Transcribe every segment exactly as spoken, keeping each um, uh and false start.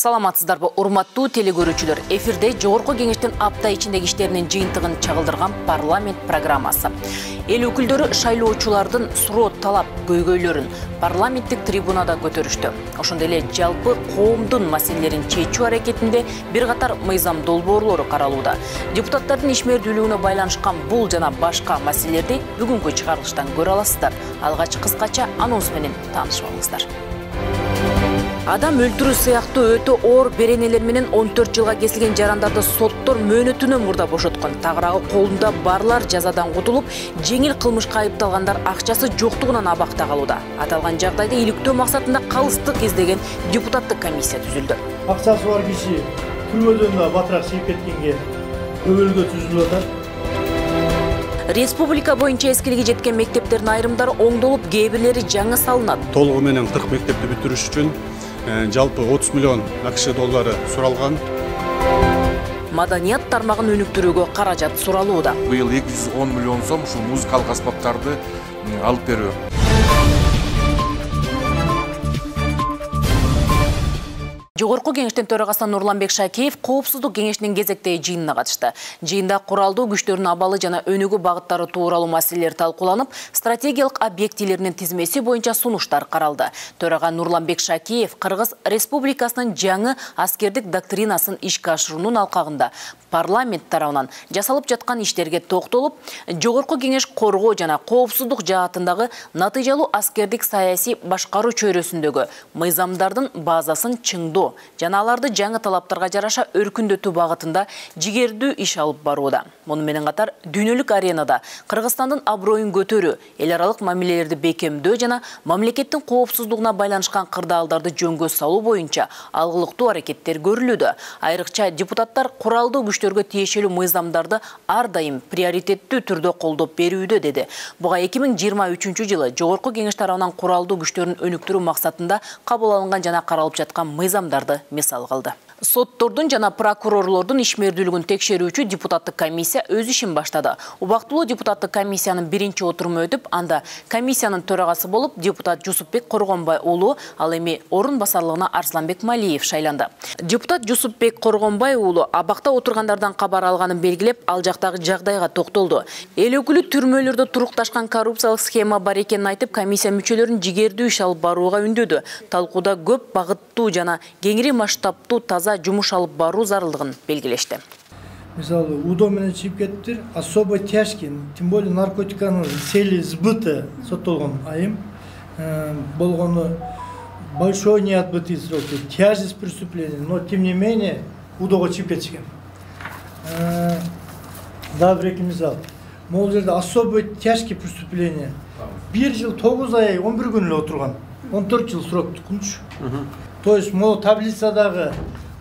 Саламатсыздарбы, урматтуу телекөрүүчүлөр. Эфирде Жогорку Кеңештин апта ичиндеги иштеринин жыйынтыгын чагылдырган парламент программасы. Эл өкүлдөрү шайлоочулардын суроо талап көйгөйлөрүн парламенттик трибунада көтөрүштү. Ошондой эле жалпы коомдун маселелерин чечүү аракетинде бир катар мыйзам долбоорлору каралууда. Депутаттардын ишмердүүлүгүнө байланышкан бул жана башка маселелерди бүгүнкү чыгарылыштан көрө аласыздар. Алгач кыскача анонс менен таанышып алыңыздар. Адам өлтүрүү сыяктуу өтө оор беренелер менен он төрт жылга кесилген жарандарды соттор мөөнөтүнөн мурда бошоткон. Тагыраагы колунда барлар жазадан кутулуп, жеңил кылмышка айыпталгандар акчасы жоктугунан абакта калууда. Аталган жагдайда иликтөө максатында калыстык издеген депутаттык комиссия түзүлдү. Акчасы бар киши түрмөдөн да батыраак чыгып кеткенге өбөлгө түзүлүп атат. Республика боюнча эскилиги жеткен мектептердин айрымдары оңдолуп, кээ бирлери жаңы салынат. Толугу менен кырк мектепти бүтүрүш үчүн жалпы отуз миллион акш доллары суралган. Маданият тармагын өнүктүрүүгө каражат суралууда. Быйыл эки жүз он миллион сом ушул музыкалык аспаптарды алып берүү. Жогорку Кеңештин төрагасы Нурланбек Шакеев Коопсуздук кеңешинин кезектеги жыйынына катышты. Жыйында куралдуу күчтөрдүн абалы жана өнүгүү багыттары тууралуу маселелер талкууланып, стратегиялык объектилеринин тизмеси боюнча сунуштар каралды. Төрага Нурланбек Шакеев Кыргыз Республикасынын жаңы аскердик доктринасын ишке ашыруунун алкагында парламент тарабынан жасалып жаткан иштерге токтолуп, Жогорку Кеңеш коргоо жана коопсуздук жаатындагы натыйжалуу аскердик саясий башкаруу чөйрөсүндөгү мыйзамдардын базасын чыңдоо жана аларды жаңы талаптарга жараша өркүндөтүү багытында жигердүү иш алып барууда. Муну менен катар дүйнөлүк аренада Кыргызстандын аброюн көтөрүү, эл аралык мамилелерди бекемдөө жана мамлекеттин коопсуздугуна байланышкан кырдаалдарды жөнгө салуу боюнча алгылыктуу аракеттер көрүлүүдө. Айрыкча депутаттар куралдуу күчтөргө тиешелүү мыйзамдарды ар дайым приоритеттүү түрдө колдоп берүүдө, деди. Буга эки миң жыйырма үчүнчү жылы Жогорку Кеңеш тарабынан куралдуу күчтөрүн өнүктүрүү максатында кабыл алынган жана каралып жаткан мыйзамдарды мисал кылды. Соттордун жана прокурорлордун ишмердүүлүгүн текшерүүчү депутаттык комиссия өз ишин баштады. Убактылуу депутаттык комиссиянын биринчи отуруму өтүп, анда комиссиянын төрагасы болуп депутат Жусупбек Коргонбай уулу, ал эми орун басарлыгына Арсланбек Малиев шайланды. Депутат Жусупбек Коргонбай уулу абакта отургандардан кабар алганын белгилеп, ал жактагы жагдайга токтолду. Эл өкүлү түрмөлөрдө турукташкан коррупциялык схема бар экенин айтып, комиссия мүчөлөрүн жигердүү иш алып барууга үндөдү. Талкууда көп багыттуу жана кеңири масштабтуу таза жумуш алып баруу зарылдыгын белгилешти. Мисалы, УДО менен чыгып кетиптир, особо тяжкий, тем более наркотиканын цели сбыта соттолгон айым болгону большой неотбытый срок, тяжесть преступления, но тем не менее УДОго чыгып кетишкен. Да, бир эки мисал. Могул жерде особо тяжкий преступление. бир жыл тогуз ай он бир күн эле отурган. он төрт жыл срок тукунчу. То есть могу таблицадагы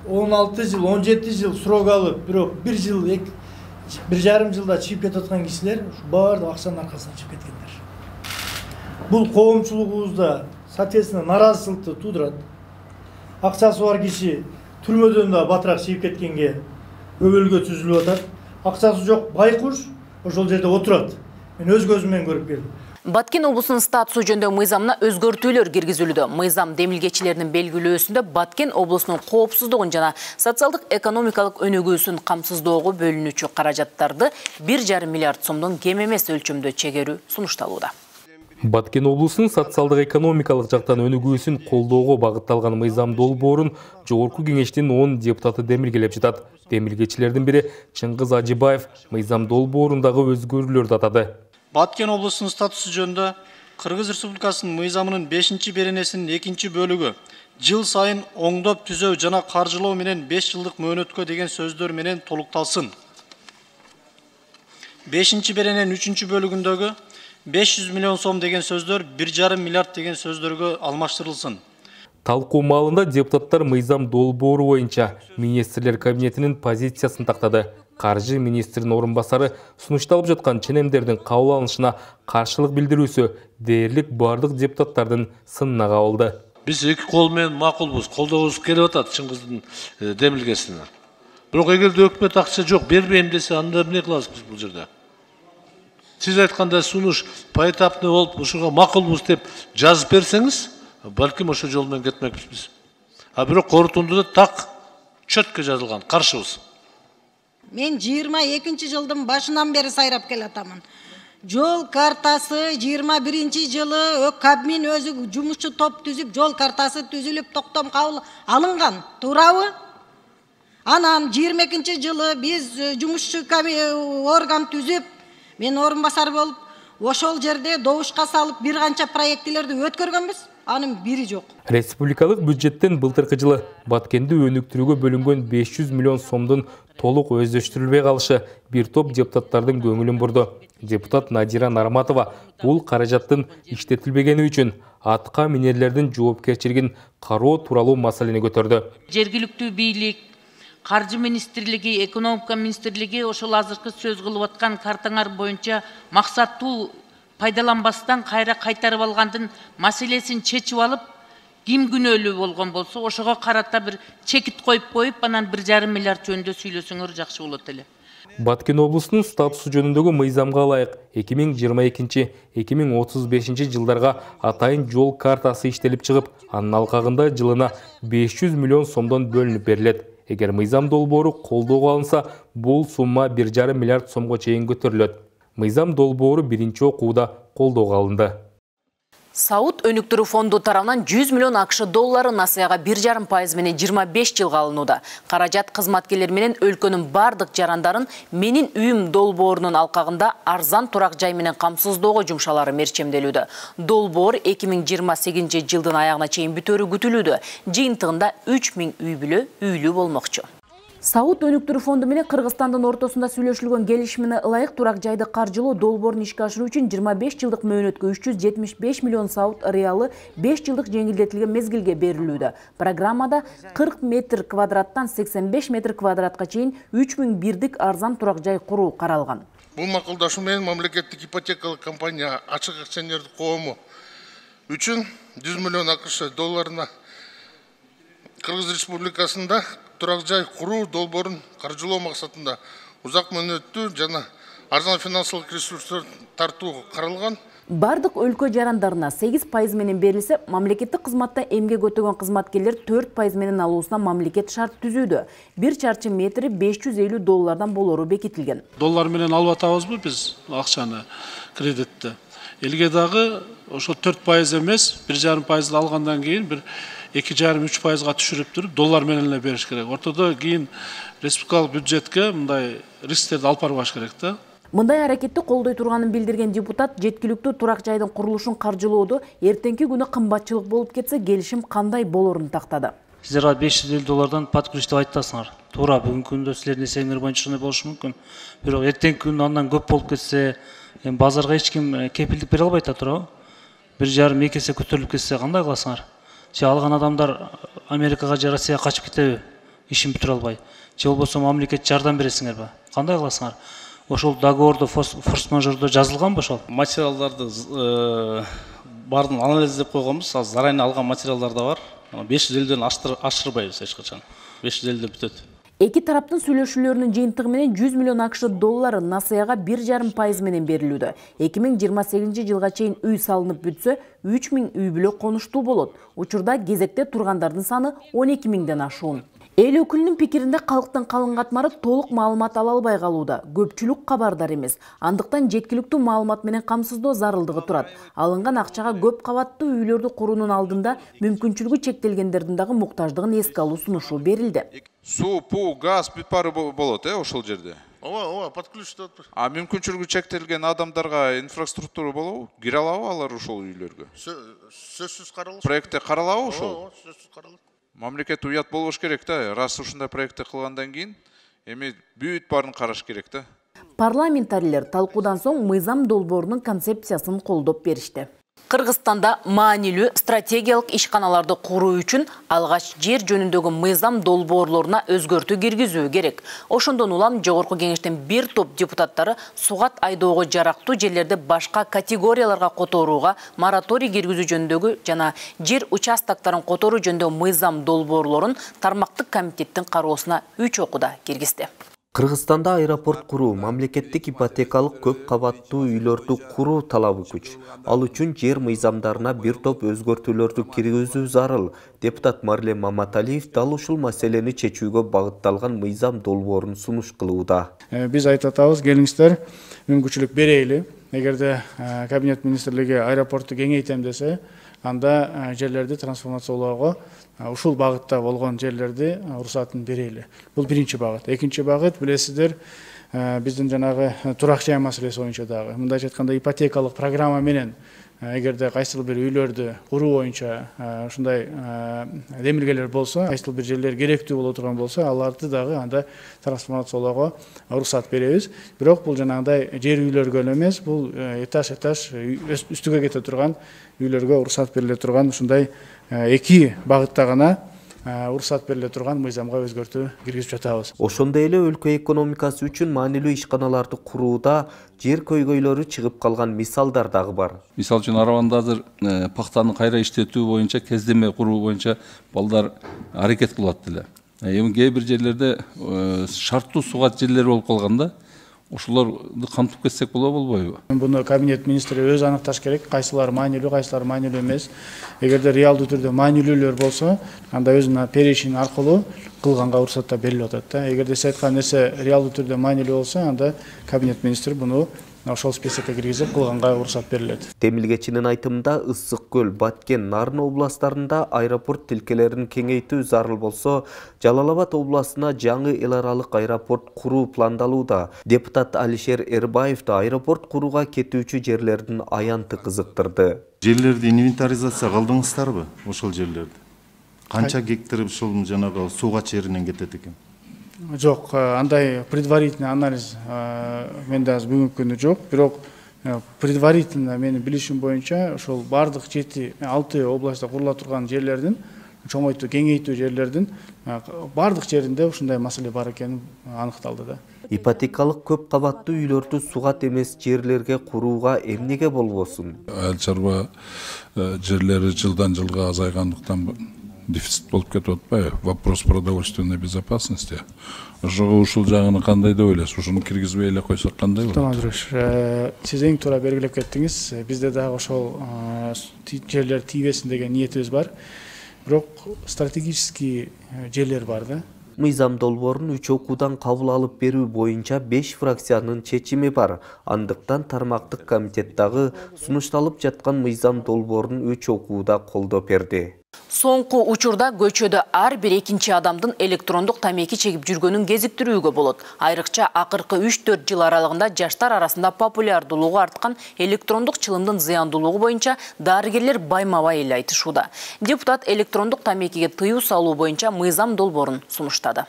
он алты жыл, он жети жыл срок алып, бирок бир жыл, бир жарым жылда чыгып кетип аткан кишилер баардык акчанын аркасынан чыгып кеткендер. Бул коомчулугубузда соответственно наразычылыкты туудурат. Акчасы бар киши түрмөдөн да батыраак чыгып кеткенге өбөлгө түзүлүп атат. Акчасы жок байкуш ошол жерде отурат. Мен өз көзүм менен көрүп келдим. Баткен облусунун статусу жөнүндө мыйзамына өзгөртүүлөр киргизилүүдө. Мыйзам демилгечилеринин белгилөөсүндө Баткен облусунун коопсуздугун жана социалдык экономикалык өнүгүүсүн камсыздоого бөлүнүүчү каражаттарды бир жарым миллиард сомдон кем эмес өлчөмдө чегерүү сунушталууда. Баткен облусунун социалдык экономикалык жактан өнүгүүсүн колдоого багытталган мыйзам долбоорун Жогорку Кеңештин он депутаты демилгелеп жатат. Демилгечилердин бири Чыңгыз Ажыбаев мыйзам долбоорундагы өзгөрүүлөрдү атады. Баткен облусунун статусу жөнүндө Кыргыз Республикасынын мыйзамынын бешинчи беренесинин экинчи бөлүгү жыл сайын оңдоп түзөө жана каржылоо менен беш жылдык мөөнөткө деген сөздөр менен толукталсын. бешинчи берененин үчүнчү бөлүгүндөгү беш жүз миллион сом деген сөздөр бир жарым миллиард деген сөздөргө алмаштырылсын. Талкуу маалында депутаттар мыйзам долбоору боюнча министрлер кабинетинин позициясын тактады. Каржы министринин орун басары сунушталып жаткан ченемдердин кабыл алынышына каршылык билдирүүсү дээрлик бардык депутаттардын сынына кабылды. Биз эки кол менен макулбуз, колдогубуз келип атат Чыңгыздын демилгесине. Бирок эгерде өкмөт акча жок, бербейм десе, анда эмне кылабыз биз бул жерде? Сиз айткандай сунуш поэтапный болуп, ушуга макулбуз деп жазып берсеңиз, балким ошо жол менен кетмекпиз. А бирок корутундуда так чөткө жазылган каршыбыз. Мен жыйырма экинчи жылдын башынан бери сайрап келатамын. Жол картасы жыйырма биринчи жылы Кабмин өзү жумушчу топ түзүп, жол картасы түзүлүп, токтом кабыл алынган. Туурабы? Анан жыйырма экинчи жылы биз жумушчу орган түзүп, мен орун басар болуп, ошол жерде добушка салып бир канча проектилерди өткөргөнбүз. Анын бири жок. Республикалык бюджеттен былтыркы жылы Баткенди өнүктүрүүгө бөлүнгөн беш жүз миллион сомдун толук өздөштүрүлбөй калышы бир топ депутаттардын көңүлүн бурду. Депутат Надира Нарматова бул каражаттын иштетилбегени үчүн атка минерлердин жоопкерчилигин кароо тууралуу маселени көтөрдү. Жергиликтүү бийлик, Каржы министрлиги, экономика министрлиги ошол азыркы сөз кылып аткан картаңар боюнча максаттуу пайдаланбастан кайра кайтарып алгандын маселесин чечип алып, ким күнөөлүү болгон болсо, ошого карата бир чекит коюп коюп, анан бир жарым миллиард жөнүндө сүйлөсөңөр жакшы болот эле. Баткен облусунун статусу жөнүндөгү мыйзамга ылайык эки миң жыйырма экинчи — эки миң отуз бешинчи жылдарга атайын жол картасы иштелип чыгып, анын алкагында жылына беш жүз миллион сомдон бөлүнүп берилет. Эгер мыйзам долбоору колдоого алынса, бул сумма бир жарым миллиард сомго чейин көтөрүлөт. Мыйзам долбоору биринчи окууда колдоого алынды. Сауд өнүктүрүү фонду тарабынан жүз миллион акш доллары насыяга бир жарым пайыз менен жыйырма беш жылга алынууда. Каражат кызматкерлер менен өлкөнүн бардык жарандарын менин үйүм долбоорунун алкагында арзан турак жай менен камсыздоого жумшалары мерчемделүүдө. Долбоор эки миң жыйырма сегизинчи жылдын аягына чейин бүтөөрү күтүлүүдө. Жыйынтыгында үч миң үй бүлө үйлүү болмокчу. Сауд өнүктүрүү фонду менен Кыргызстандын ортосунда сүйлөшүлгөн келишимине ылайык турак жайды каржылоо долбоорун ишке ашыруу үчүн жыйырма беш жылдык мөөнөткө үч жүз жетимиш беш миллион сауд реалы беш жылдык жеңилдетилген мезгилге берилүүдө. Программада кырк метр квадраттан сексен беш метр квадратка чейин үч миң бирдик арзан турак жай куруу каралган. Бул макулдашуу менен мамлекеттик ипотекалык компания ачык акционердик коому үчүн жүз миллион акш долларына Кыргыз Республикасында турак жай куруу долбоорун каржылоо максатында узак мөөнөттүү жана арзан финансылык ресурстар тартуу каралган. Бардык өлкө жарандарына сегиз пайыз менен берилсе, мамлекеттик кызматта эмгек өтөгөн кызматкерлер төрт пайыз менен алуусуна мамлекет шарт түзүүдө. Бир чарчы метри беш жүз элүү доллардан болору бекитилген. Доллар менен алып атабызбы биз акчаны, кредитти? Элге дагы ошо төрт пайыз эмес, бир жарым пайызды алгандан кийин бир эки жарым үч пайызга түшүрүп туруп доллар менен эле бериш керек. Ортодо кийин республикалык бюджетке мындай рисктерди алып барбаш керек да. Мындай аракетти колдой турганын билдирген депутат жеткиликтүү турак жайдын курулушун каржылоодо эртеңки күнү кымбатчылык болуп кетсе, келишим кандай болорун тактады. Сиздер беш жүз элүү доллардан подключ деп айтасыңар. Туура, бүгүнкү күндө силердин эсебиңер боюнча ушундай болушу мүмкүн. Бирок эртеңки күнү андан көп болуп кетсе, эми базарга эч ким кепилдик бере албайт да, туурабы? бир жарым эки эсе көтөрүлүп кетсе кандай кыласыңар? Же алган адамдар Америкага же Россияга качып кетеби? Ишин бүтүрө албай. Же болбосо мамлекет жардам бересиңерби? Кандай кыласыңар? Ошол договордо форс-мажордо жазылганбы ошол? Материалдарды баарын анализдеп койгонбуз. Азыр зарайны алган материалдар да бар. беш жүз элүүдөн ашырбайбыз эч качан. беш жүз элүүдө бүтөт. Эки тараптын сүйлөшүүлөрүнүн жыйынтыгы менен жүз миллион акш доллары насыяга бир жарым пайыз менен берилүүдө. эки миң жыйырма сегизинчи жылга чейин үй салынып бүтсө, үч миң үй бүлө конуштуу болот. Учурда кезекте тургандардын саны он эки миңден ашуун. Эл өкүлүнүн пикиринде калктын калың катмары толук маалымат ала албай калууда. Көпчүлүк кабардар эмес. Андыктан жеткиликтүү маалымат менен камсыздоо зарылдыгы турат. Алынган акчага көп кабаттуу үйлөрдү куруунун алдында мүмкүнчүлүгү чектелгендердин дагы муктаждыгын эске алуу сунушу берилди. Суу, пуу, газ бүт баары болот, э, ошол жерде. Ооба, ооба, подключтап. А мүмкүнчүлүгү чектелген адамдарга инфраструктура болобу? Кире алабы алар ошол үйлөргө? Сөзсүз каралат. Проектте каралабы ошол? Ооба, сөзсүз каралат. Мамлекет уят болбош керек да. Раз ушундай проектти кылгандан кийин эми бүт баарын караш керек да. Парламентарийлер талкуудан соң мыйзам долбоорунун концепциясын колдоп беришти. Кыргызстанда маанилүү стратегиялык ишканаларды куруу үчүн алгач жер жөнүндөгү мыйзам долбоорлоруна өзгөртүү киргизүү керек. Ошондон улам жогорку кеңештин бир топ депутаттары сугат айдоого жарактуу жерлерди башка категорияларга которууга мораторий киргизүү жөнүндөгү жана жер участокторун которуу жөнүндөгү мыйзам долбоорлорун тармактык комитеттин кароосуна үч окууда киргизди. Кыргызстанда аэропорт куруу, мамлекеттик ипотекалык көп кабаттуу үйлөрдү куруу талабы күч. Ал үчүн жер мыйзамдарына бир топ өзгөртүүлөрдү киргизүү зарыл. Депутат Марлен Маматалиев дал ушул маселени чечүүгө багытталган мыйзам долбоорун сунуш кылууда. Биз айтып атабыз, келиңиздер, мүмкүнчүлүк берейли. Эгерде Кабинет министрлиги аэропортту кеңейтем десе, анда жерлерди трансформациялоого ушул багытта болгон жерлерди уруксатын берели. Бул биринчи багыт. Экинчи багыт, билесиздер, биздин жанагы турак жай маселеси боюнча дагы. Мындайча айтканда ипотекалык программа менен эгерде кайсыл бир үйлөрдү куруу боюнча ушундай демилгелер болсо, кайсыл бир жерлер керектүү боло турган болсо, аларды дагы анда трансформациялоого уруксат беребиз. Бирок бул жанагындай жер үйлөргө эмес, бул этаж этаж үстүгө кете турган үйлөргө уруксат бериле турган ушундай эки багытта гана уруксат бериле турган мыйзамга өзгөртүү киргизип жатабыз. Ошондой эле өлкө экономикасы үчүн маанилүү ишканаларды курууда жер көйгөйлөрү чыгып калган мисалдар дагы бар. Мисал үчүн Арабанда азыр пахтаны кайра иштетүү боюнча, кездеме куруу боюнча балдар аракет кылат деле. Эми кээ бир жерлерде шарттуу сугат жерлер болуп калганда, ошолорду камтып кетсек болобу, болбойбу? Буну Кабинет министри өзү аныкташ керек, кайсылар маанилүү, кайсылар маанилүү эмес. Эгерде реалдуу түрдө маанилүүлөр болсо, анда өзүнүн перечин аркылуу кылганга уруксат берилип атат да. Эгерде сиз айткан нерсе реалдуу түрдө маанилүү болсо, анда Кабинет министри буну ошол списокко киргизип кылганга уруксат берилет. Демилгечинин айтымында Ысык көл, Баткен, Нарын областарында аэропорт тилкелерин кеңейтүү зарыл болсо, Жалал Абад областына жаңы эл аралык аэропорт куруу пландалууда. Депутат Алишер Эрбаев да аэропорт курууга кетүүчү жерлердин аянты кызыктырды. Жерлерди инвентаризация кылдыңыздарбы? Ошол жерлерди. Канча гектар ушул жанагы сууга черинен кетет экен? Жок, андай предварительный анализ менде азыр бүгүнкү күндө жок. Бирок предварительно менин билишим боюнча ошол бардык жети алты областта курула турган жерлердин, чоңойтуу, кеңейтүү жерлердин бардык жеринде ушундай маселе бар экени аныкталды да. Ипотекалык көп кабаттуу үйлөрдү сугат эмес жерлерге курууга эмнеге болбосун? Айыл чарба жерлери жылдан жылга азайгандыктан дефицит болуп кетип атпайбы? Вопрос продовольственной безопасности. Ошого ушул жагын кандай деп ойлойсуз? Ушуну киргизбей эле койсок кандай болот? Тамадырыш, сиз эң туура белгилеп кеттиңиз. Бизде дагы ошол жерлер тийбесин деген ниетибиз бар. Бирок стратегический жерлер бар да. Мыйзам долбоорун үч окуудан кабыл алып берүү боюнча беш фракциянын чечими бар. Андыктан тармактык комитет дагы сунушталып жаткан мыйзам долбоорун үч окууда колдоп берди. Соңку учурда көчөдө ар бир экинчи адамдын электрондук тамеки чегип жүргөнүн кезиктирүүгө болот. Айрыкча акыркы үч төрт жыл аралыгында жаштар арасында популярдуулугу арткан электрондук чылымдын зыяндуулугу боюнча дарыгерлер байма-бай эле айтышууда. Депутат электрондук тамекиге тыюу салуу боюнча мыйзам долбоорун сунуштады.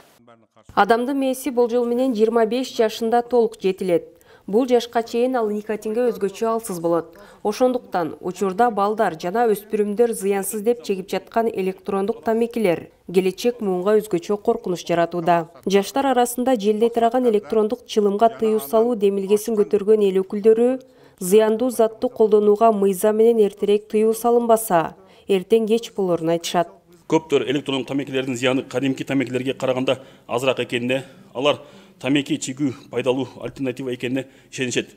Адамдын мээси болжол менен жыйырма беш жашында толук жетилет. Бул жашка чейин ал никотинге өзгөчө алсыз болот. Ошондуктан учурда балдар жана өспүрүмдөр зыянсыз деп чегип жаткан электрондук тамекилер келечек муунга өзгөчө коркунуч жаратууда. Жаштар арасында желдей тараган электрондук чылымга тыюу салуу демилгесин көтөргөн эл өкүлдөрү зыяндуу затты колдонууга мыйзам менен эртерээк тыюу салынбаса, эртең кеч болорун айтышат. Көптөр электрондук тамекилердин зыяны кадимки тамекилерге караганда азыраак экенине, алар тамеки чегүү пайдалуу альтернатива экенине ишенишет.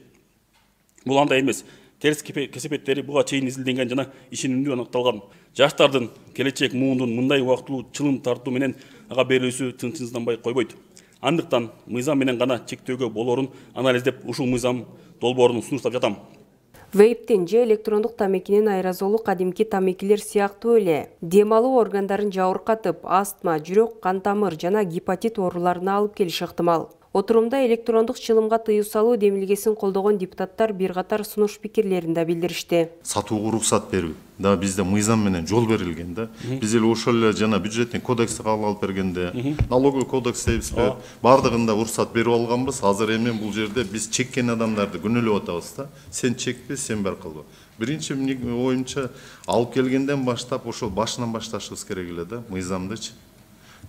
Бул андай эмес. Терс кесепеттери буга чейин изилденген жана ишенимдүү аныкталган. Жаштардын келечек муундун мындай убактылуу чылым тартуу менен ага берүүсү тынчсызданбай койбойт. Андыктан мыйзам менен гана чектөөгө болорун анализдеп ушул мыйзам долбоорун сунуштап жатам. Вейптин же электрондук тамекинин аэрозолу кадимки тамекилер сыяктуу эле дем алуу органдарын жабыркатып, астма, жүрөк, кан тамыр жана гепатит ооруларына алып келиши ыктымал. Отурумда электрондук чылымга тыюу салуу демилгесин колдогон депутаттар бир катар сунуш пикирлерин да билдиришти. Сатууга уруксат берүү да бизде мыйзам менен жол берилген да. Биз эле ошол эле жана бюджеттин кодексти кабыл алып бергенде, налоговый кодекс дейбизби, бардыгында уруксат берип алганбыз. Азыр эми бул жерде биз чеккен адамдарды күнөөлөп атабыз да. Сен чекпе, сен бар кылба. Биринчи оюмча алып келгенден баштап ошол башынан башташыбыз керек эле да, мыйзамдычы.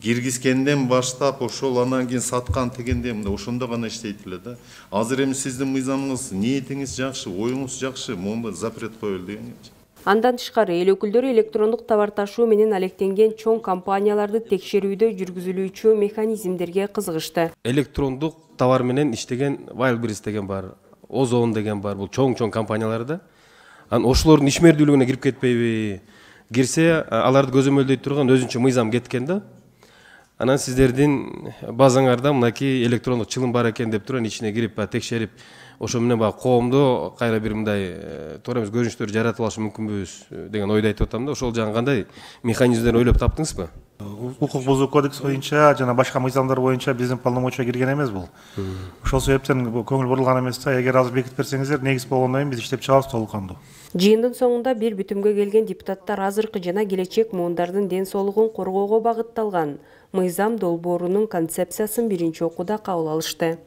Киргизгенден баштап ошол анан кийин саткан тегенде мындай ошондо гана иштейт эле да. Азыр эми сиздин мыйзамыңыз, ниетиңиз жакшы, оюңуз жакшы, могу запрет коелу дегенчи. Андан тышкары эл өкүлдөрү электрондук товар ташуу менен алектенген чоң компанияларды текшерүүдө жүргүзүлүүчү механизмдерге кызыгышты. Электрондук товар менен иштеген Wildberries деген бар, Озон деген бар, бул чоң-чоң компаниялар да. Анан ошолордун ишмердүүлүгүнө кирип кетпейби? Кирсе, аларды көзөмөлдөй турган өзүнчө мыйзам кеткен да. Анан сиздердин базаңарда мынакей электрондук чылым бар экен деп турган ичине кирип текшерип, ошо менен баягы коомдо кайра бир мындай туура эмес көрүнүштөр жаратып алыш мүмкүнбүз деген ойду айтып атам да. Ошол жагы кандай механизмдерди ойлоп таптыңызбы? Укук бузуу кодекс боюнча жана башка мыйзамдар боюнча биздин полномочия кирген эмес бул. Ошол себептен көңүл бурулган эмес да. Эгер азыр бекитип берсеңиздер, негиз болгондон кийин биз иштеп чыгабыз толук кандуу. Жыйындын соңунда бир бүтүмгө келген депутаттар азыркы жана келечек муундардын ден соолугун коргоого багытталган мыйзам долбоорунун концепциясын биринчи окууда кабыл алышты.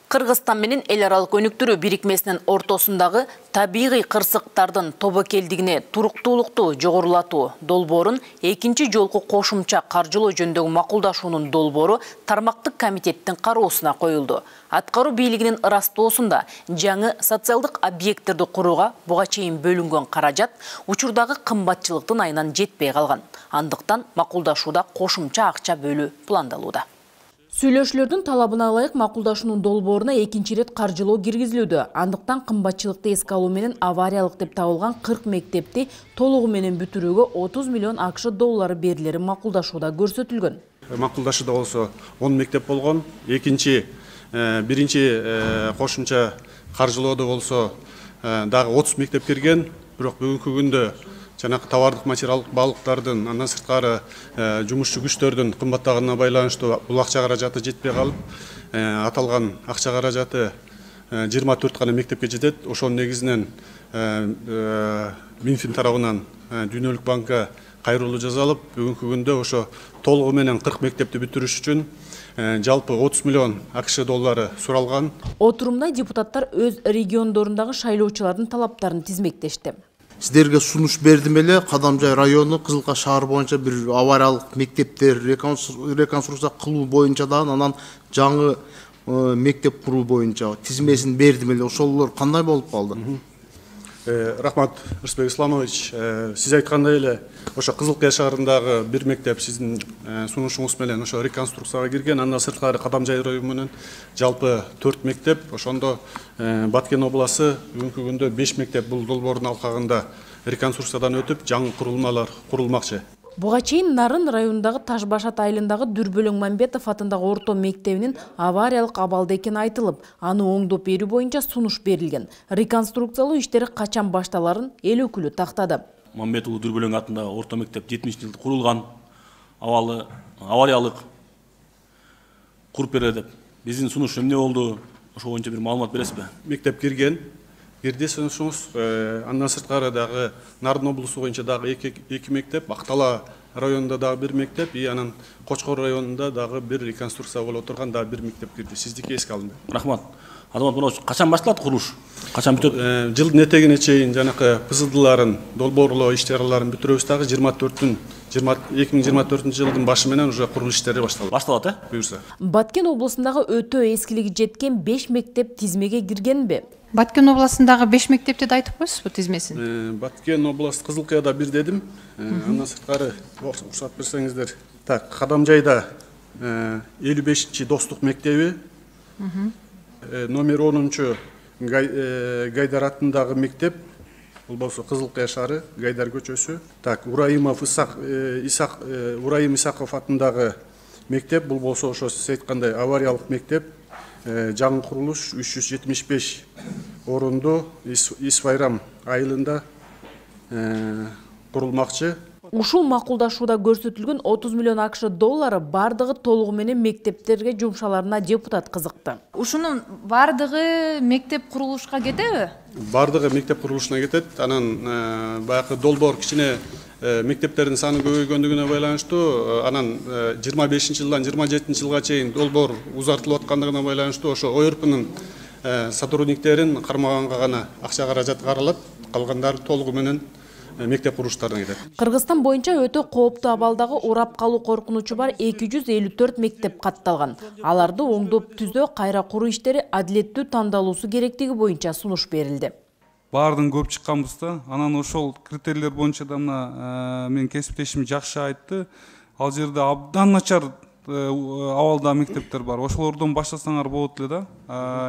Кыргызстан менен эл аралык өнүктүрүү бирикмесинин ортосундагы табигый кырсыктардын тобокелдигине туруктуулукту жогорулатуу долбоорун экинчи жолку кошумча каржылоо жөнүндөгү макулдашуунун долбоору тармактык комитеттин кароосуна коюлду. Аткаруу бийлигинин ырастоосунда жаңы социалдык объекттерди курууга буга чейин бөлүнгөн каражат учурдагы кымбатчылыктын айынан жетпей калган. Андыктан макулдашууда кошумча акча бөлүү пландалууда. Сүйлөшүүлөрдүн талабына ылайык макулдашуунун долбооруна экинчи ирет каржылоо киргизилүүдө. Андыктан кымбатчылыкты эске алуу менен авариялык деп табылган кырк мектепти толугу менен бүтүрүүгө отуз миллион акш доллары берилери макулдашууда көрсөтүлгөн. Макулдашууда болсо он мектеп болгон. Экинчи биринчи кошумча каржылоодо болсо дагы отуз мектеп кирген. Бирок бүгүнкү күндө жанагы товардык материалдык баалыктардын, андан сырткары жумушчу күчтөрдүн кымбаттаганына байланыштуу бул акча каражаты жетпей калып, аталган акча каражаты жыйырма төрт гана мектепке жетет. Ошонун негизинен Минфин тарабынан Дүйнөлүк банкка кайрылуу жасалып, бүгүнкү күндө ошо толугу менен кырк мектепти бүтүрүш үчүн жалпы отуз миллион акш доллары суралган. Отурумда депутаттар өз региондорундагы шайлоочулардын талаптарын тизмектешти. Сиздерге сунуш бердим эле, Кадамжай району, Кызылка шаар боюнча бир авариялык мектептер реконструкция кылуу боюнча да, анан жаңы мектеп куруу боюнча тизмесин бердим эле. Ошолор кандай болуп калды? Рахмат, Рысбек Исламович. Сиз айткандай эле, ошо Кызылкая шаарындагы бир мектеп сиздин сунушуңуз менен ошо реконструкцияга кирген. Андан сырткары Кадамжай районунун жалпы төрт мектеп, ошондо Баткен обласы бүгүнкү күндө беш мектеп бул долбоордун алкагында реконструкциядан өтүп, жаңы курулмалар курулмакчы. Буга чейин Нарын районундагы Ташбашат айылындагы Дүрбөлөң Мамбетов атындагы орто мектебинин авариялык абалда экени айтылып, аны оңдоп берүү боюнча сунуш берилген. Реконструкциялоо иштери качан башталарын эл өкүлү тактады. Мамбетов Дүрбөлөң атындагы орто мектеп жетимишинчи жылда курулган, абалы авариялык куруп берилет деп. Биздин сунуш эмне болду? Ошол боюнча бир маалымат бересизби? Мектеп кирген, кирди сунушуңуз. Андан сырткары дагы Нарын облусу боюнча дагы эки мектеп, Актала районунда дагы бир мектеп, и анан Кочкор районунда дагы бир реконструкция болуп турган дагы бир мектеп кирди. Сиздики эске алынды. Рахмат. Азамат Муратович, качан башталат курулуш? Качан бүтөт? Жылдын этегине чейин жанакы пызылдыларын, долбоорлоо иш-чараларын бүтүрөбүз дагы жыйырма төртүн эки миң жыйырма төртүнчү жылдын башы менен уже курулуш иштери башталат. Башталат, э? Буюрса. Баткен облусундагы өтө эскилиги жеткен беш мектеп тизмеге киргенби? Баткен областындагы беш мектепти да айтып коесузбу тизмесин? Баткен областы Кызылкаяда бир дедим. Андан сырткары уруксат берсеңиздер. Так, Кадамжайда элүү бешинчи достук мектеби, номер онунчу Гайдар атындагы мектеп, бул болсо Кызылкая шаары, Гайдар көчөсү. Так, Ураимов Исак Исак Ураим Исаков атындагы мектеп, бул болсо ошо сиз айткандай авариялык мектеп. Жаңы курулуш үч жүз жетимиш беш орунду Исвайрам айылында курулмакчы. Ушул макулдашууда көрсөтүлгөн отуз миллион акш доллары бардыгы толугу менен мектептерге жумшаларына депутат кызыкты. Ушунун бардыгы мектеп курулушка кетеби? Бардыгы мектеп курулушуна кетет. Анан баягы долбоор кичине мектептердин саны көбөйгөндүгүнө байланыштуу, анан жыйырма бешинчи жылдан жыйырма жетинчи жылга чейин долбоор узартылып аткандыгына байланыштуу ошо ОРПнын сотрудниктерин кармаганга гана акча каражат каралат, калгандары толугу менен мектеп курулуштарына кетет. Кыргызстан боюнча өтө кооптуу абалдагы урап калуу коркунучу бар эки жүз элүү төрт мектеп катталган. Аларды оңдоп түзөө, кайра куруу иштери адилеттүү тандалуусу керектиги боюнча сунуш берилди. баардыгын көп чыкканбыз да. Анан ошол критерийлер боюнча да мына мен кесиптешим жакшы айтты. Ал жерде абдан начар абалда мектептер бар. Ошолордон баштасаңар болот эле да.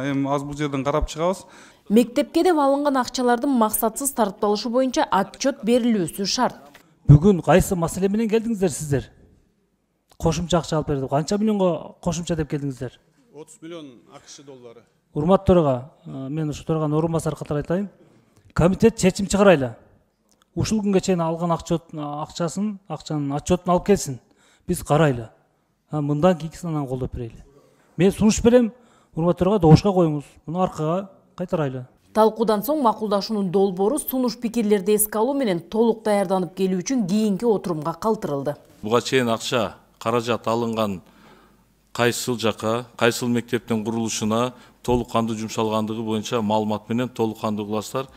Эми аз бул жерден карап чыгабыз. Мектепке деп алынган акчалардын максатсыз тартыпталышы боюнча отчет берилүүсү шарт. Бүгүн кайсы маселе менен келдиңиздер сиздер? Кошумча акча алып берди. Канча миллионго кошумча деп келдиңиздер? отуз миллион акш доллары. Урмат төрага, мен ушу төраган орун басары катары айтайын. Комитет чечим чыгарайлы. Ушул күнгө чейин алган акчасын, акчанын отчетун алып келсин. Биз карайлы. Мындан кийинкисин анан колдоп берели. Мен сунуш берем, урмат төрага добушка коюңуз. Муну аркага кайтарайлы. Талкуудан соң макулдашуунун долбоору сунуш пикирлерди эске алуу менен толук даярданып келүү үчүн кийинки отурумга калтырылды. Буга чейин акча, каражат алынган кайсыл жака, кайсыл мектептин курулушуна толук кандуу жумшалгандыгы боюнча маалымат менен толук кандуу кыласыздар.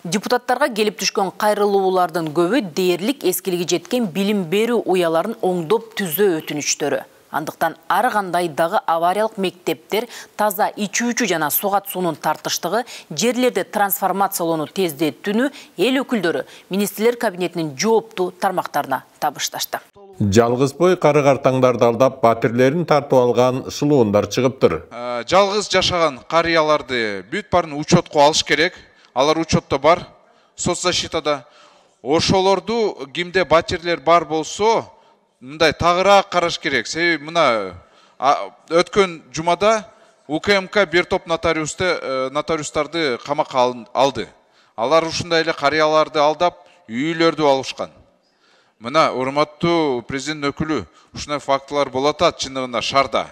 Депутаттарга келип түшкөн кайрылуулардын көбү дээрлик эскилиги жеткен билим берүү уяларын оңдоп түзөө өтүнүчтөрү. Андыктан ар кандай дагы авариялык мектептер, таза ичүүчү жана сугат суунун тартыштыгы, жерлерди трансформациялоону тездетүүнү эл өкүлдөрү министрлер кабинетинин жооптуу тармактарына табышташты. Жалгыз бой кары картаңдарды алдап, батирлерин тартып алган шылуундар чыгыптыр. Жалгыз жашаган карыяларды бүт баарын учетко алыш керек. Алар учетто бар, соцзащитада. Ошолорду кимде батирлер бар болсо, мындай тагыраак караш керек. Себеби мына өткөн жумада УКМК бир топ нотариустарды камакка алды. Алар ушундай эле карыяларды алдап, үйлөрдү алышкан. Мына урматтуу президент өкүлү, ушундай фактылар болот ат чындыгында шаарда.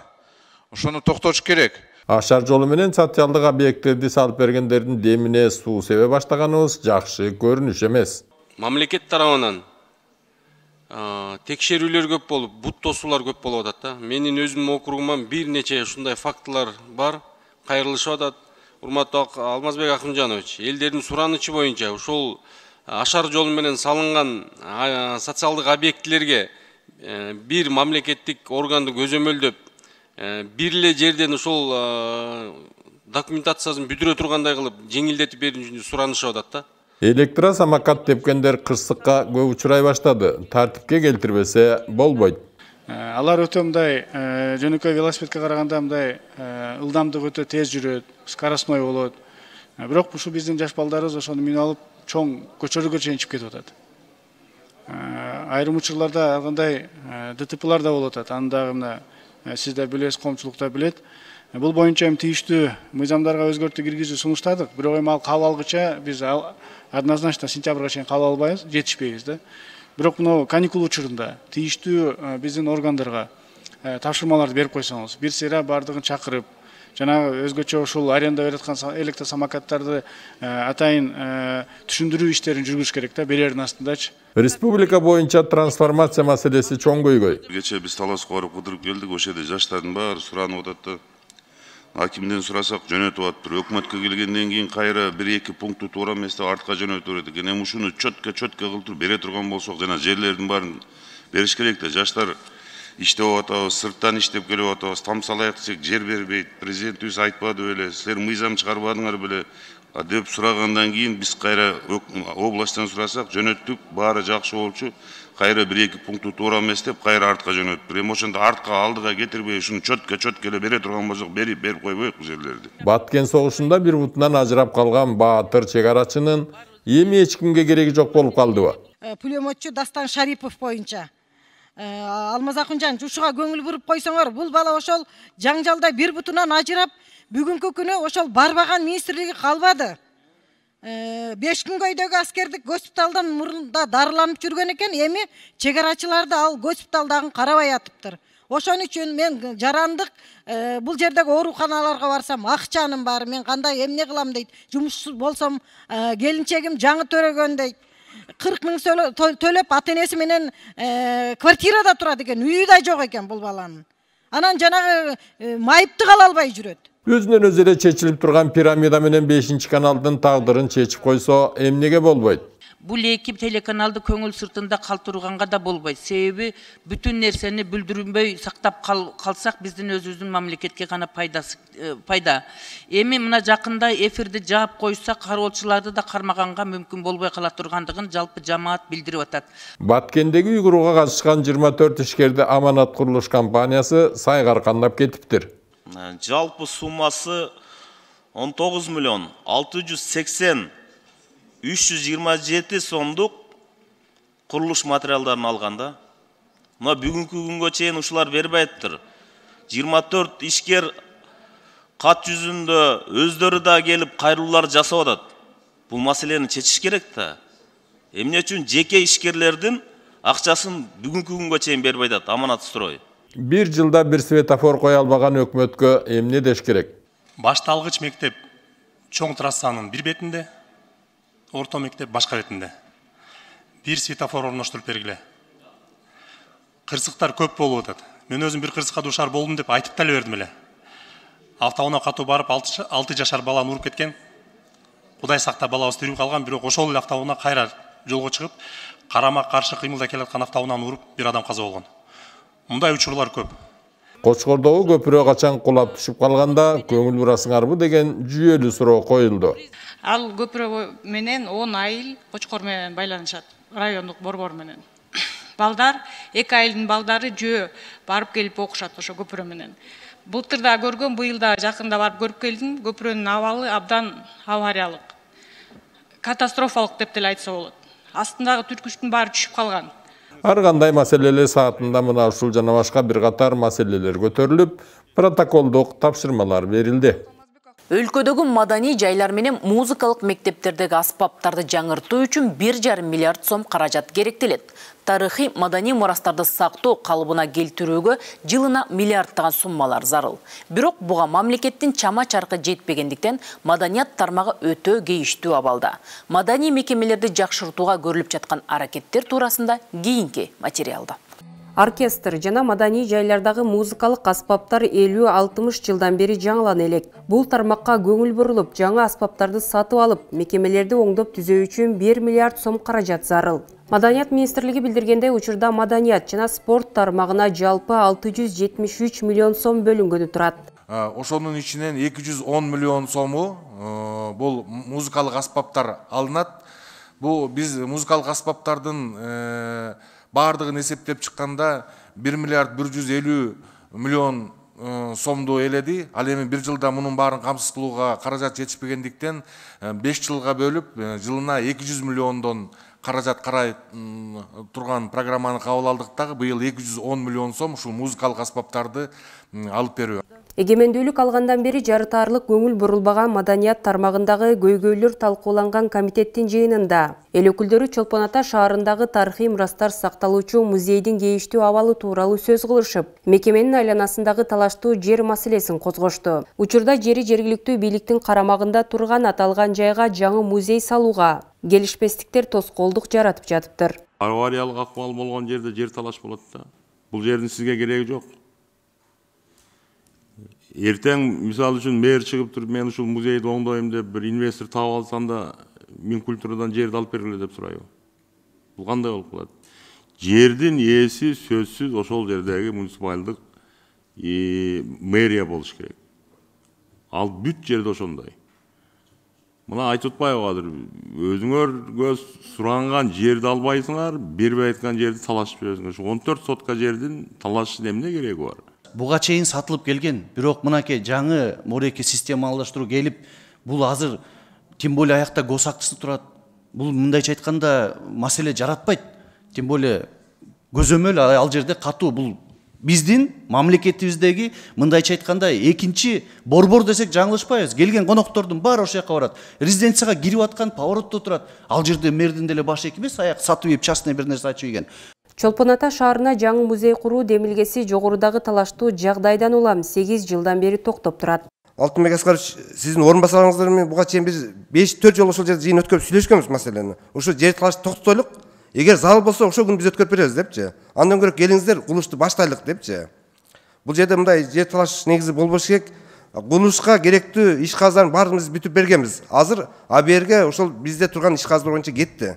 Ошону токтош керек. Ашар жолу менен социалдык объекттерди салып бергендердин демине суу себе баштаганыбыз жакшы көрүнүш эмес. Мамлекет тарабынан текшерүүлөр көп болуп, бут тосуулар көп болуп атат да. Менин өзүмдүн округуман бир нече ушундай фактылар бар, кайрылышып атат. Урматтуу Алмазбек Акымжанович, элдердин суранычы боюнча ушул ашар жолу менен салынган социалдык объектилерге бир мамлекеттик органды көзөмөлдөп, бир эле жерден ушул документациясын бүтүрө тургандай кылып жеңилдетип берүү үчүн суранышып атат да. Электросамокат тепкендер кырсыкка көп учурай баштады. Тартипке келтирбесе болбойт. Алар өтө мындай жөнөкөй велосипедке караганда мындай ылдамдыгы өтө тез жүрөт, скоростной болот. Бирок ушу биздин жаш балдарыбыз ошону минип алып чоң көчөлөргө чейин чыгып кетип атат. Айрым учурларда алгандай ДТПлар да болуп атат. Аны дагы мына сиз да билесиз, коомчулук да билет. Бул боюнча эми тийиштүү мыйзамдарга өзгөртүү киргизүү сунуштадык. Бирок эми ал кабыл алгыча биз однозначно сентябрга чейин кабыл албайбыз, жетишпейбиз да. Бирок мына каникул учурунда тийиштүү биздин органдарга тапшырмаларды берип койсоңуз, бир сыйра бардыгын чакырып, жанагы өзгөчө ушул аренда берип аткан электросамокаттарды атайын түшүндүрүү иштерин жүргүзүш керек да, берердин астындачы. Республика боюнча трансформация маселеси чоң көйгөй. Кечээ биз талашка барып кыдырып келдик, ошол жерде жаштардын баары суранып атат да. Акимден сурасак жөнөтүп атыптыр. Өкмөткө келгенден кийин кайра бир эки пунктту туура эмес деп артка жөнөтүп берет экен. Эми ушуну чөткө чөткө кылып туруп бере турган болсок, жана жерлердин баарын бериш керек да. Жаштар иштеп атабыз, сырттан иштеп келип атабыз, тамсалайык десек жер бербейт. Президентибиз айтпады беле, силер мыйзам чыгарбадыңар беле деп сурагандан кийин биз кайра областтан сурасак жөнөттүк, баары жакшы болчу. Кайра бир эки пунктту туура эмес деп кайра артка жөнөтүп. Эми ошондо артка алдыга кетирбей ушуну чөткө чөткө эле бере турган болсок, берип берип койбойбузбу жерлерди. Баткен согушунда бир бутунан ажырап калган баатыр чек арачынын эми эч кимге кереги жок болуп калдыбы? Пулеметчу Дастан Шарипов боюнча Алмаз Акынжан ушуга көңүл буруп койсоңор, бул бала ошол жаңжалда бир бутунан ажырап, бүгүнкү күнү ошол барбаган министрлиги калбады. беш күнгөйдөгү аскердик госпиталдан мурунда дарыланып жүргөн экен, эми чек арачыларды ал госпиталдагын карабай атыптыр. Ошон үчүн мен жарандык бул жердеги ооруканаларга барсам, акчанын баары мен кандай эмне кылам дейт. Жумушсуз болсом, келинчегим жаңы төрөгөн дейт. кырк миң төлөп ата энеси менен квартирада турат экен, үйү да жок экен бул баланын. Анан жанагы майыпты кала албай жүрөт. Өзүнөн өзү эле чечилип турган пирамида менен бешинчи каналдын тагдырын чечип койсо эмнеге болбойт? Бул эки телеканалды көңүл сыртында калтырганга да болбойт. Себеби бүтүн нерсени бүлдүрүнбөй сактап калсак биздин өзүбүздүн мамлекетке гана пайдасы пайда. Эми мына жакында эфирди жаап койса кароочуларды да кармаганга мүмкүн болбой кала тургандыгын жалпы жамаат билдирип атат. Баткендеги үй курууга катышкан жыйырма төрт ишкерди Аманат курулуш компаниясы сайга кандап кетиптир. Жалпы суммасы он тогуз миллион алты жүз сексен үч жүз жыйырма жети сомдук курулуш материалдарын алганда, мына бүгүнкү күнгө чейин ушулар бербейптир. жыйырма төрт ишкер кат жүзүндө өздөрү да келип кайрылуулар жасап атат. Бул маселени чечиш керек да. Эмне үчүн жеке ишкерлердин акчасын бүгүнкү күнгө чейин бербей атат Аманат строй? Бир жылда бир светофор кое албаган өкмөткө эмне деш керек? Башталгыч мектеп чоң трассанын бир бетинде, орто мектеп башка бетинде. Бир светофор орноштуруп бергиле. Кырсыктар көп болуп атат. Мен өзүм бир кырсыкка дуушар болдум деп айтып деле бердим эле. Автоунаа катуу барып алты жашар баланы уруп кеткен. Кудай сакта балабыз тирүү калган, бирок ошол эле автоунаа кайра жолго чыгып, карама каршы кыймылдай келаткан автоунааны уруп бир адам каза болгон. Мындай учурлар көп. Кочкордогу көпүрө качан кулап түшүп калганда көңүл бурасыңарбы деген жүйөлүү суроо коюлду. Ал көпүрө менен он айыл Кочкор менен байланышат, райондук борбор менен. Балдар, эки айылдын балдары жөө барып келип окушат ошо көпүрө менен. Былтыр да көргөм, быйыл да жакында барып көрүп келдим. Көпүрөнүн абалы абдан авариялык. Катастрофалык деп деле айтса болот. Астындагы түркүчтүн баары түшүп калган. Ар кандай маселелер саатында мына ушул жана башка бир катар маселелер көтөрүлүп, протоколдук тапшырмалар берилди. Өлкөдөгү маданий жайлар менен музыкалык мектептердеги аспаптарды жаңыртуу үчүн бир жарым миллиард сом каражат керектелет. Тарыхый маданий мурастарды сактоо калыбына келтирүүгө жылына миллиардтаган суммалар зарыл. Бирок буга мамлекеттин чама чаркы жетпегендиктен маданият тармагы өтө кейиштүү абалда. Маданий мекемелерди жакшыртууга көрүлүп жаткан аракеттер туурасында кийинки материалда. Оркестр жана маданий жайлардагы музыкалык аспаптар элүү алтымыш жылдан бери жаңылана элек. Бул тармакка көңүл бурулуп, жаңы аспаптарды сатып алып, мекемелерди оңдоп түзөө үчүн бир миллиард сом каражат зарыл. Маданият министрлиги билдиргендей, учурда маданият жана спорт тармагына жалпы алты жүз жетимиш үч миллион сом бөлүнгөнү турат. Ошонун ичинен эки жүз он миллион сому бул музыкалык аспаптар алынат. Бул биз музыкалык аспаптардын бардығын эсептеп чыкканда бир миллиард бир жүз элүү миллион сомду эледи. Ал эми бир жылда мунун баарын камсыз кылууга каражат жетишпегендиктен беш жылга бөлүп, жылына эки жүз миллиондон каражат карай турган программаны кабыл алдык дагы быйыл эки жүз он миллион сом ушул музыкалык аспаптарды алып берүү. Эгемендүүлүк алгандан бери жарытаарлык көңүл бурулбаган маданият тармагындагы көйгөйлөр талкууланган комитеттин жыйынында эл өкүлдөрү Чолпон Ата шаарындагы тарыхый мурастар сакталуучу музейдин кейиштүү абалы тууралуу сөз кылышып, мекеменин айланасындагы талаштуу жер маселесин козгошту. Учурда жери жергиликтүү бийликтин карамагында турган аталган жайга жаңы музей салууга келишпестиктер тоскоолдук жаратып жатыптыр. Авариялык акыбал болгон жерде жер талаш болот да. Бул жердин сизге кереги жок. Эртең мисалы үчүн мэр чыгып туруп мен ушул музейди оңдойм деп бир инвестор таап алсам да Минкультурадан жерди алып бергиле деп сурайбы. Бул кандай болуп калат? Жердин ээси сөзсүз ошол жердеги муниципалдык мэрия болуш керек. Ал бүт жерде ошондой. Мына айтып атпайбы азыр өзүңөргө суранган жерди албайсыңар, бербей аткан жерди талашып жүрөсүңөр. Ушу он төрт сотка жердин талашышын эмне кереги бар? Буга чейин сатылып келген, бирок мынакей жаңы мореки системалаштыруу келип, бул азыр тем более аякта гос актысы турат. Бул мындайча айтканда маселе жаратпайт. Тем более көзөмөл ал жерде катуу. Бул биздин мамлекетибиздеги мындайча айтканда экинчи борбор десек жаңылышпайбыз. Келген коноктордун баары ошол жака барат. Резиденцияга кирип аткан поворотто турат. Ал жерде мэрдин деле башы эки эмес, аяк сатып ийип частный бир нерсе ачып ийген. Чолпон Ата шаарына жаңы музей куруу демилгеси жогорудагы талаштуу жагдайдан улам сегиз жылдан бери токтоп турат. Алтынбек Аскарович, сиздин орун басарыңыздар менен буга чейин биз беш төрт жолу ошол жерде жыйын өткөрүп сүйлөшкөнбүз маселени. Ошо жер талашты токтойлук. Эгер зарыл болсо ошол күнү биз өткөрүп беребиз депчи. Андан көрө келиңиздер, курулушту баштайлык депчи. Бул жерде мындай жер талаш негизи болбош керек. Курулушка керектүү иш казарын баарыбыз бүтүп бергенбиз. Азыр А Б Р'ге ошол бизде турган иш казар боюнча кетти.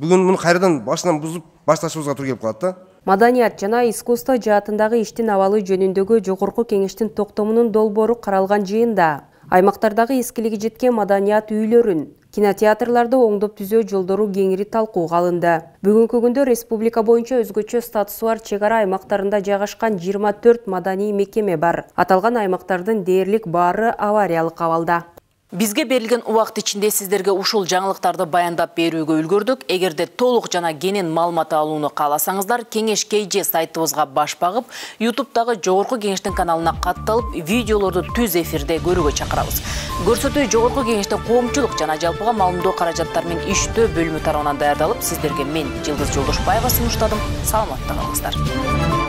Бүгүн муну кайрадан башынан бузуп башташыбызга туура келип калат да. Маданият жана искусство жаатындагы иштин абалы жөнүндөгү жогорку кеңештин токтомунун долбоору каралган жыйында аймактардагы эскилиги жеткен маданият үйлөрүн, кинотеатрларды оңдоп түзөө жолдору кеңири талкууга алынды. Бүгүнкү күндө республика боюнча өзгөчө статусу бар чек ара аймактарында жайгашкан жыйырма төрт маданий мекеме бар. Аталган аймактардын дээрлик баары авариялык абалда. Бизге берилген убакыт ичинде сиздерге ушул жаңылыктарды баяндап берүүгө үлгөрдүк. Эгерде толук жана кенен маалымат алууну кааласаңыздар, Кеңеш кей же сайтыбызга баш багып, ютубтагы Жогорку Кеңештин каналына катталып, видеолорду түз эфирде көрүүгө чакырабыз. Көрсөтүү Жогорку Кеңештин коомчулук жана жалпыга маалымдоо каражаттары менен иштөө бөлүмү тарабынан даярдалып, сиздерге мен Жылдыз Жолдошбаева сунуштадым. Саламатта калыңыздар.